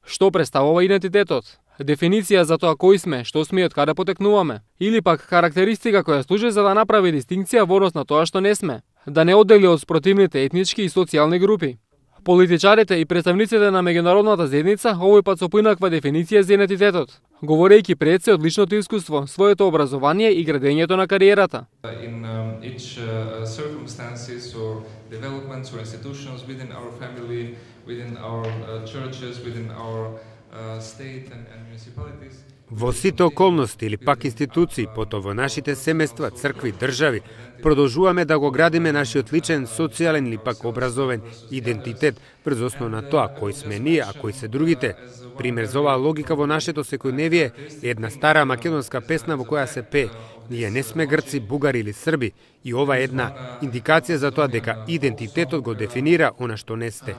Што представува идентитетот? Дефиниција за тоа кои сме, што сме и од каде потекнуваме, или пак карактеристика која служи за да направи дистинкција во однос на тоа што не сме, да не оддели од спротивните етнички и социјални групи. Политичарите и представниците на меѓународната заедница овој пат со поинаква дефиниција за идентитетот, говорејќи пред се од личното искуство, своето образование и градењето на кариерата. In each circumstances or developments or institutions within our family, within our churches, within our state and municipalities. Во сите околности или пак институции, потоа во нашите семејства, цркви, држави, продолжуваме да го градиме нашиот личен, социјален или пак образовен идентитет врз основа на тоа кои сме ние, а кои се другите. Пример за оваа логика во нашето секојдневие е една стара македонска песна во која се пее: ние не сме грци, бугари или срби, и ова е една индикација за тоа дека идентитетот го дефинира она што не сте.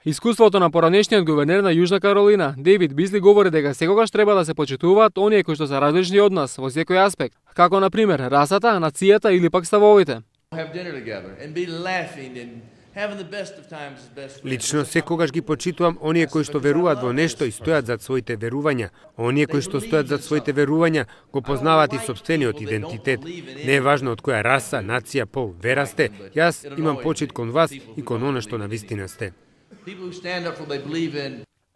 Искуството на поранешниот гувернер на Јужна Каролина, Дейвид Бисли, говори дека секогаш треба да се почитуваат оние кои што се различни од нас во секој аспект, како на пример расата, нацијата или пак ставовите. Лично секогаш ги почитувам оние кои што веруваат во нешто и стојат зад своите верувања. Оние кои што стојат зад своите верувања го познаваат и сопствениот идентитет. Не е важно од која раса, нација, пол, вера сте. Јас имам почит кон вас и кон она што навистина сте.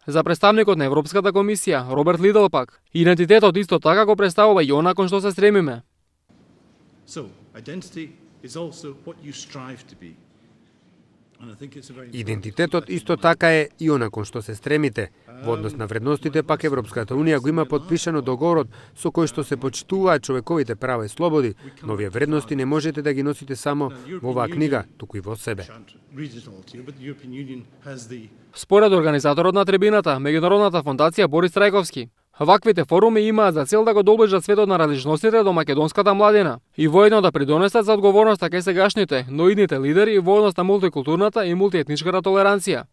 За представникот на Европската комисија, Роберт Лидл пак, идентитетот исто така го представува и она кон што се стремиме. Идентитетот исто така е и она кон што се стремите. Во однос на вредностите пак Европската унија го има потпишано договорот со кој што се почитуваат човековите права и слободи, но овие вредности не можете да ги носите само во оваа книга, туку и во себе. Според организаторот на трибината, Меѓународната фондација Борис Трајковски, ваквите форуми имаат за цел да го доближат светот на различностите до македонската младина и воедно да придонесат за одговорноста кај сегашните, но идните лидери во однос на мултикултурната и мултиетничката толеранција.